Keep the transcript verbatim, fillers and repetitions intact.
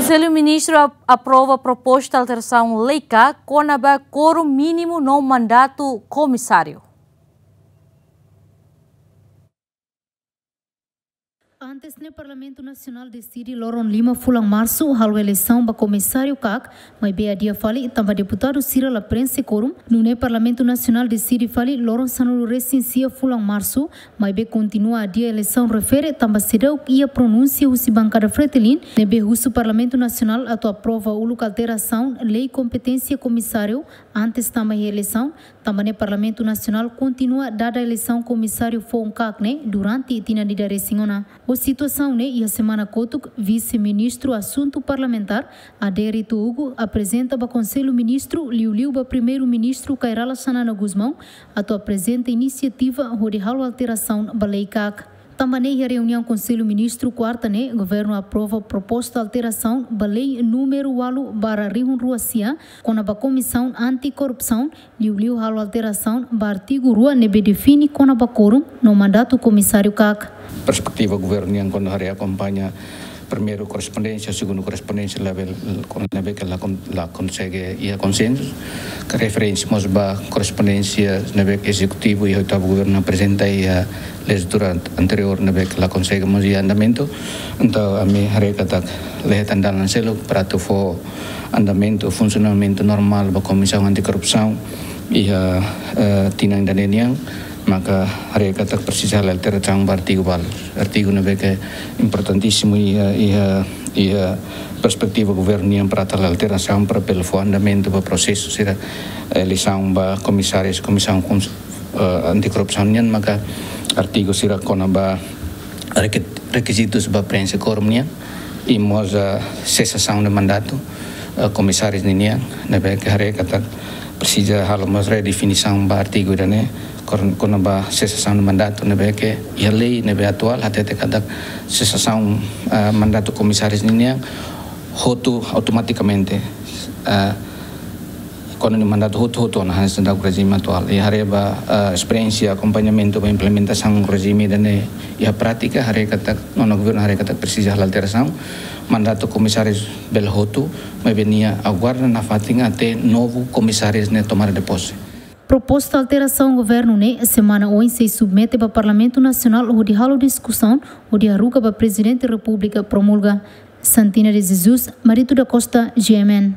Konsellu Ministru ap-, aprova proposta alterasaun lei ka kona-ba kuorum mínimu no mandatu komisáriu. Antes ne'e Parlamentu Nasionál deside loron lima fulan Marsu halo eleisaun ba komisáriu kak, maibé adia fali tanba deputadu sira la prenxe kuorum. Nune'e Parlamentu Nasionál deside fali loron sanulu resin sia fulan Marsu, maibé kontinua adia eleisaun refere tanba seidauk iha pronúnsia husi bankada Fretilin ne'ebé husu Parlamentu Nasionál atu aprova uluk alterasaun lei kompeténsia komisáriu antes tama iha eleisaun, tanba ne'e Parlamentu Nasionál kontinua dada eleisaun komisáriu foun kak ne'e durante tinan ida resin ona. Ho situasaun ne'e iha semana kotuk, Vise-Ministru Asuntu Parlamentár, Adérito Hugo, aprezenta ba Konsellu Ministru, liuliu ba Primeiru-Ministru Kay Rala Xanana Gusmão, atu aprezenta inisiativa hodi halo alterasaun ba lei kak. Tanba ne'e iha reuniaun Konsellu Ministru kuarta ne'e, Governu aprova proposta alterasaun ba lei númeru ualu barra rihun rua sia, kona-ba Komisaun Anti-Korrupsaun, liuliu halo alterasaun ba artigu rua ne'ebé define kona-ba kuorum no mandatu komisáriu kak. Perspetiva governu nian kuandu haree akompaña primeiru korrespondénsia, segundu korrespondénsia labele, ne'ebé ke la kon-, la konsege iha konsensu. Ke referénsia mós ba korrespondénsia ne'ebé ke ezekutivu iha oitavu governu aprezenta iha lejislatura anteriór ne'ebé ke la konsege mós iha andamentu. Entaun ami haree katak la iha tandalan seluk para atu fó andamentu, funsionamentu normál ba Komisaun Anti-Korrupsaun iha, eh, tinan ida-ne'e nian, maka haree katak presiza halo alterasaun ba artigu balu. Artigu ne'ebé ke importantísimu iha, iha, iha perspetiva governu nian para atu halo alterasaun para bele fó andamentu ba prosesu sira, eh, eleisaun ba komisáriu, Komisaun Kons-, eh, Anti-Korrupsaun nian, maka artigu sira kona-ba reke-, rekizitus ba prenxe kuorum nian, i mós, eh, sesasaun de mandatu, eh, komisáriu ninian, ne'ebé ke haree katak presiza halo mós redefinisaun ba artigu ida-ne'e, kor-, kona-ba sesasaun de mandatu, ne'ebé ke iha lei ne'ebé atuál hatete katak sesasaun, eh, mandatu komisáriu ninian hotu automatikamente, eh, kuandu nia mandatu hotu-hotu ona hanesan daudaun rejime atuál. I haree ba, eh, esperiénsia akompañamentu ba implementasaun rejime ida-ne'e iha prátika, haree katak, nonu governu haree katak presiza halo alterasaun. Mandatu komisáriu bele hotu, maibé nia aguarda nafatin até novu komisáriu ne'e tomada de posse. Proposta alterasaun governu ne'e semana oin sei submete ba Parlamentu Nasionál hodi halo diskusaun, hodi haruka ba Prezidente Repúblika promulga. Santina de Jesus, Marito da Costa, G M N.